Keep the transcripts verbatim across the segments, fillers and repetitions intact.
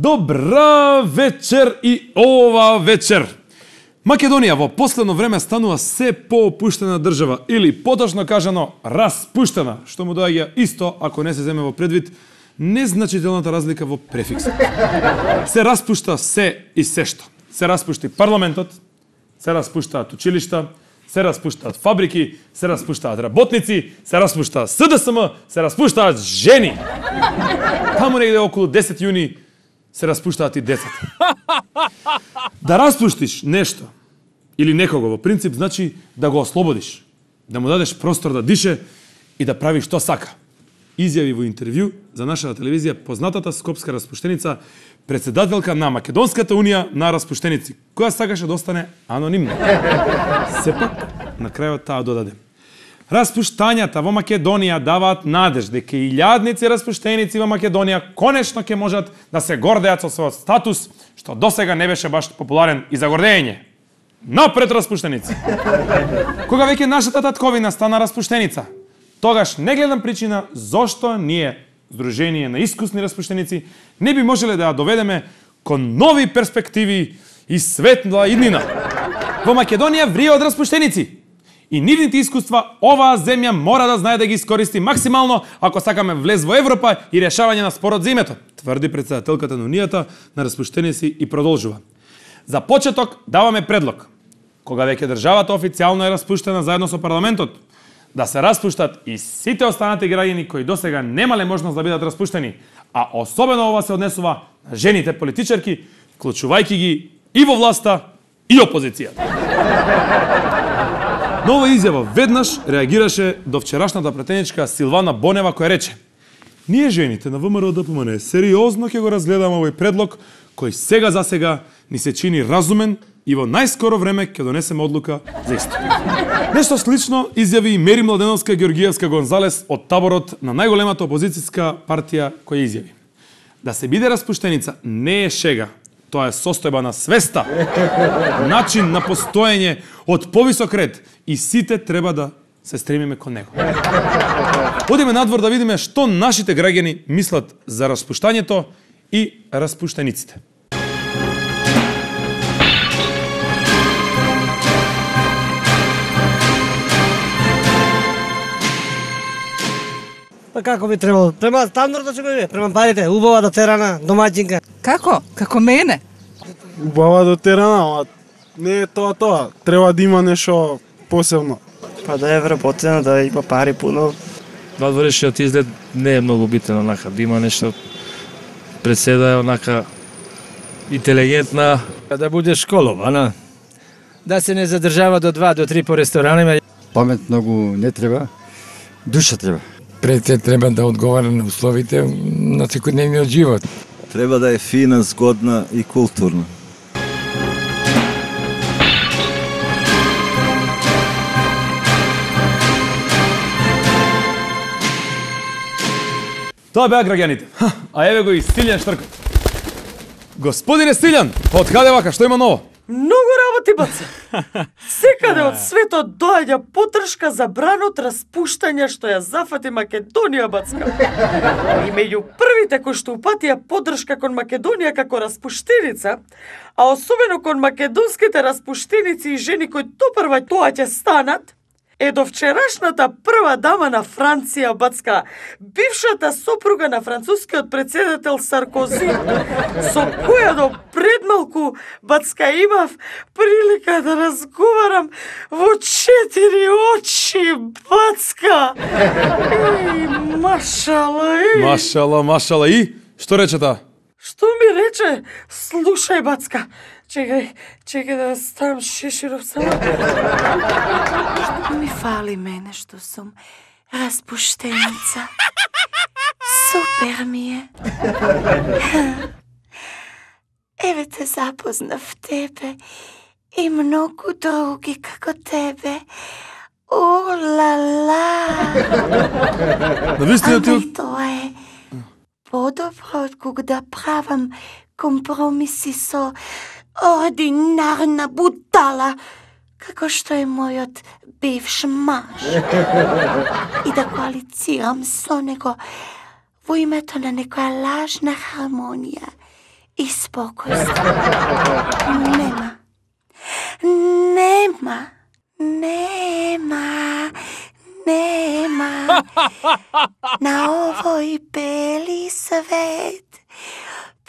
Добра вечер и ова вечер. Македонија во последно време станува се поопуштена држава или поточно кажано распуштена, што му доаѓа исто ако не се земе во предвид незначителната разлика во префиксот. Се распушта се и сешто. Се распушти парламентот, се распуштаат училишта, се распуштаат фабрики, се распуштаат работници, се распуштаат С Д С М, се распуштаат жени. Таму негде околу десет јуни се распуштаат и децата. Да распуштиш нешто или некого во принцип значи да го ослободиш, да му дадеш простор да дише и да прави што сака. Изјави во интервју за нашата телевизија познатата скопска распуштеница, председателка на Македонската унија на распуштеници, која сакаше да остане анонимна. Сепак, на крајот таа додаде: распуштањата во Македонија даваат надеж дека илјадници распуштеници во Македонија конечно ќе можат да се гордеат со својот статус, што досега не беше баш популарен и за гордење. Напред распуштеници! Кога веќе нашата татковина стана распуштеница, тогаш не гледам причина зошто ние, Сдружение на искусни распуштеници, не би можеле да ја доведеме кон нови перспективи и светла иднина. Во Македонија врие од распуштеници. И нивните искуства оваа земја мора да знае да ги искористи максимално ако сакаме влез во Европа и решавање на спорот за името, тврди председателката на Унијата на распуштеници и продолжува. За почеток даваме предлог. Кога веќе државата официјално е распуштена заедно со парламентот, да се распуштат и сите останати граѓани кои досега немале можност да бидат распуштени, а особено ова се однесува на жените политичарки, вклучувајќи ги и во власта и опозицијата. На ова изјава веднаш реагираше до вчерашната претеничка Силвана Бонева која рече: ние жените на В М Р Д П М Н сериозно ќе го разгледаме овој предлог кој сега за сега ни се чини разумен и во најскоро време ќе донесеме одлука за исто. Нешто слично изјави и Мери Младеновска Георгиевска Гонзалес од таборот на најголемата опозицијска партија која изјави: да се биде распуштеница не е шега, тоа е состојба на свеста, начин на постоење од повисок ред и сите треба да се стремиме кон него. Одиме надвор да видиме што нашите граѓани мислат за распуштањето и распуштениците. Па како би требало? Према стандардно ќе биде, према парите, убава дотерана, домаќинка. Како? Како мене? Убава дотерана, ама не е тоа тоа. Треба да има нешто посебно. Па да е вработена, да има пари пуно. Надворешниот изглед не е многу битен, онака, да има нешто пред се да е онака интелигентна. Да буде школована, да се не задржава до два до три по ресторанima. Памет многу не треба, душа треба. Пред се треба да одговара на условите на секојдневниот живот. Треба да е фина, згодна и културна. Тоа беа граѓаните. А еве го и Силјан Штркот. Господине Силјан, од каде вака, што има ново? Многу работи, баца. Секаде од светот доаѓа потршка за бранот распуштање што ја зафати Македонија, бацка. И меѓу првите кои што упатија поддршка кон Македонија како распуштеница, а особено кон македонските распуштеници и жени кои топрва тоа ќе станат, е до вчерашната прва дама на Франција, бацка, бившата сопруга на францускиот председател Саркози, со која до предмалку, бацка, имав прилика да разговарам во четири очи, бацка. Ей, машала, ей. Машала, машала, и? Што рече таа? Што ми рече? Слушај, бацка, чекај, чекај да ставам шеширов само. Што ми фали мене што сум распуштеница? Супер ми е. Еве те запознав тебе и многу други како тебе. О, ла, ла. Навистина ти... Ама тоа е подобро од кога да правам компромиси со ординарна бутала, како што е мојот бивш маж. И да коалицирам со него во името на некоја лажна хармонија i spokojstvo. Nema. Nema. Nema. Nema. Na ovoj beli svet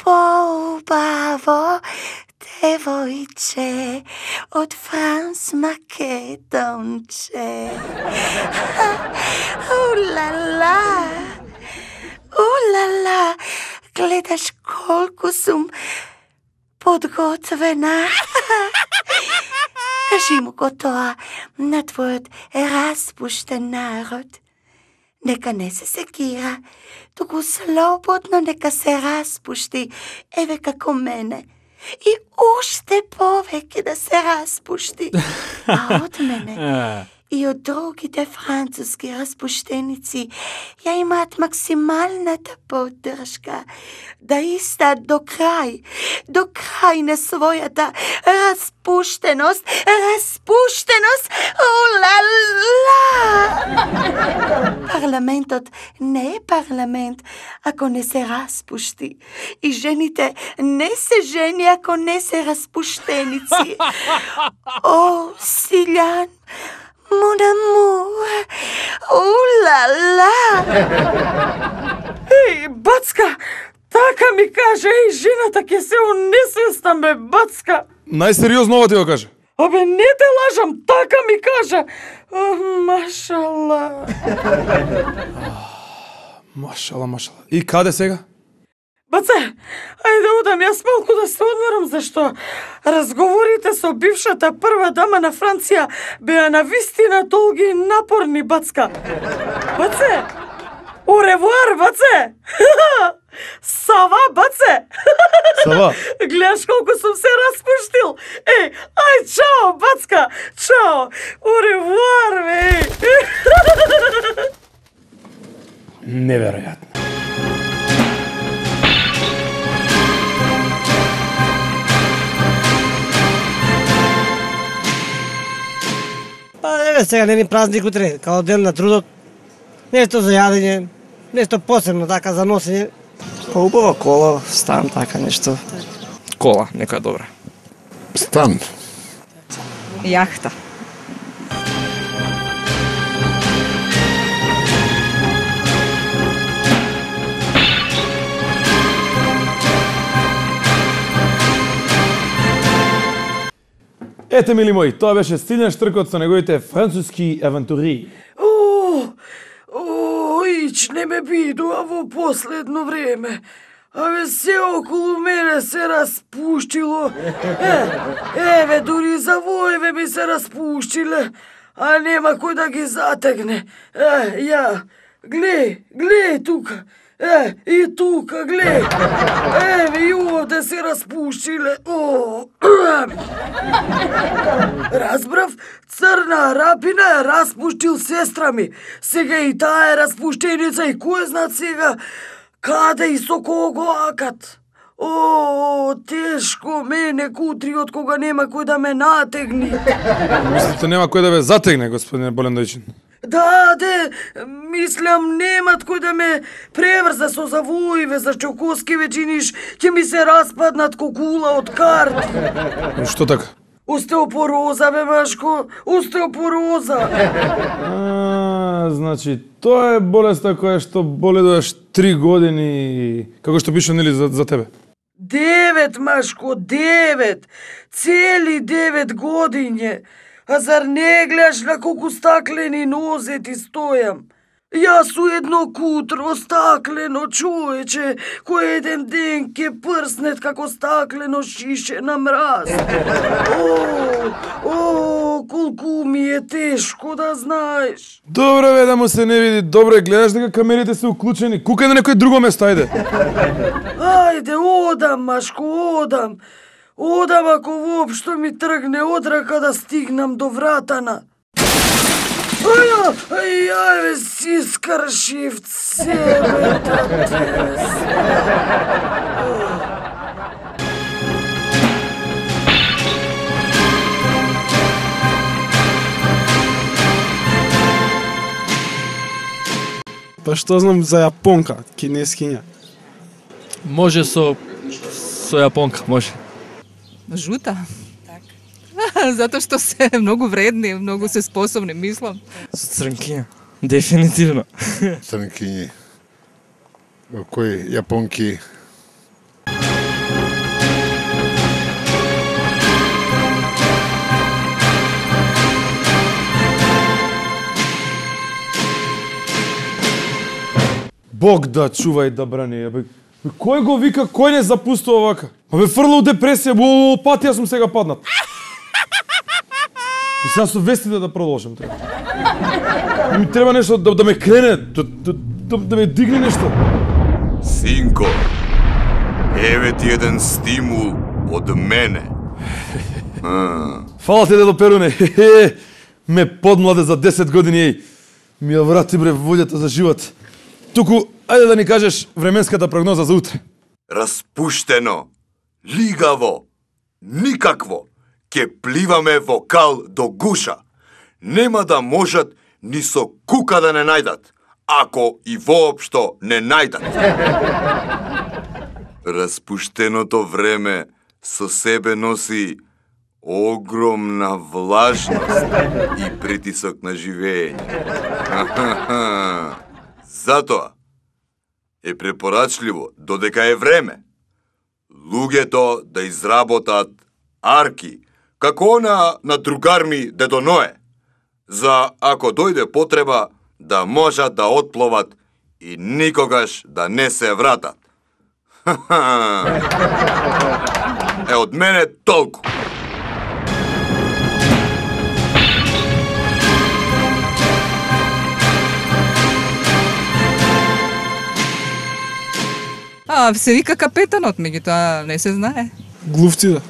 poubavo devojče od Frans Makedonče. Ulala, ulala, gledaš koliko sam podgotovena. Kaži mu gotova na tvojot raspušten narod. Neka ne se sekira, туку слободно нека се распушти, еве како мене. И уште повеќе да се распушти. А од мене и од другите француски распуштеници ја имаат максималната поддршка да истаат до крај, до крај на својата распуштеност, распуштеност, улала! Парламентот не е парламент ако не се распушти. И жените не се жени ако не се распуштеници. О, Силјан, mon amour, улала! Еј, бацка, така ми каже, еј, жената ќе се унесвеста ме, бацка. Најсериозно ова ти го каже. Абе, не те лажам, така ми кажа. Ох, машала. Машала, машала. И каде сега? Баце, ајде одам јас малку да се одморам, зашто разговорите со бившата прва дама на Франција беа навистина долги и напорни, бацка. Баце, au revoir, баце. Сава, баце. Сава. Гледаш колку сум се распуштил. Еј, ај, чао, бацка. Чао. Au revoir, бе. Неверојатно. Па еве сега не ни празник утре, као ден на трудот. Нешто за јадење, нешто посебно така за носење. Па убава кола, стан, така нешто. Кола, некоја добра. Стан. Јахта. Ете, мили мои, тоа беше Силјан Штркот со неговите француски авантури. О, о, ич не ме бидува во последно време. Абе, се околу мене се распуштило. Е, еве, дури завоеве ми се распуштиле, а нема кој да ги затегне. Е, ја, глеј, глеј тука. Е, и тука, глеј. Еве, и овде се распуштиле. О, разбрав, црна рапина е распуштил сестра ми. Сега и таа е распуштеница и кој знат сега каде и со кого акат. О, тешко мене кутриот кога нема кој да ме натегни. Мислите нема кој да ве затегне, господине Болендојчин? Да, де, мислам, немат кој да ме преврза со завоиве, за чокоски вечиниш, ќе ми се распаднат кокула од карти. Што така? Остеопороза, бе, Машко, остеопороза. А, значи, тоа е болеста која што боледуваш три години, како што пише, нели, за, за тебе? Девет, Машко, девет. Цели девет годиња. А зар не гледаш на колку стаклени нозе ти стојам? Јас у едно кутро стаклено човече, кој еден ден ке прснет како стаклено шише на мраз. О, о, колку ми е тешко да знаеш. Добро бе, да му се не види. Добре, гледаш дека камерите се уклучени. Кукај на некој друго место, ајде. Ајде, одам, Машко, одам. Одам ако воопшто ми тргне од рака да стигнам до вратана. Аја, ајаве си скршив цевета тес. Па што знам за јапонка, кинескиња? Може со Со јапонка, може. Жута? Така. Затоа што се многу вредни, многу се способни, мислам. Со црнкиња. Дефинитивно. Црнкињи. Кои јапонки? Бог да чува и да брани, бе. Кој го вика, кој не запустува вака? Абе фрла у депресија, во патија сум сега паднат. И сега со вестите да продолжам треба. Ми треба нешто да, да ме крене, да, да, да, да ме дигне нешто. Синко, еве ти еден стимул од мене. Фала ти, дедо Перуне. Ме подмладе за десет години, еј. Ми ја врати бре волјата за живот. Туку, ајде да ни кажеш временската прогноза за утре. Распуштено, лигаво, никакво, ке пливаме во кал до гуша. Нема да можат ни со кука да не најдат, ако и воопшто не најдат. Распуштеното време со себе носи огромна влажност и притисок на живење. Затоа е препорачливо, додека е време, луѓето да изработат арки, како она на другар ми дедо Ное, за ако дојде потреба да можат да отпловат и никогаш да не се вратат. Е, од мене толку. А, се вика капетанот, меѓутоа не се знае. Глувци да.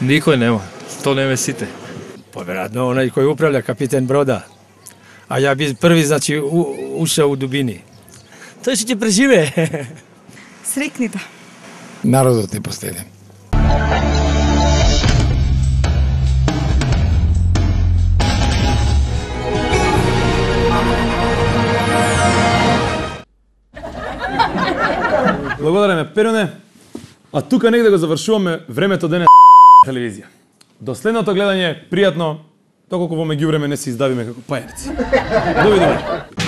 Никој нема, што не ме сите. Поверојатно онај кој управља капитен брода. А ја би први, значи, у, ушao у дубини. Тој ќе ќе преживее. Срекни да. Народот е последен. Благодариме, Перуне. А тука негде го завршуваме времето денес телевизија. До следното гледање, пријатно, доколку во меѓувреме не се издавиме како пајарци. Довидување.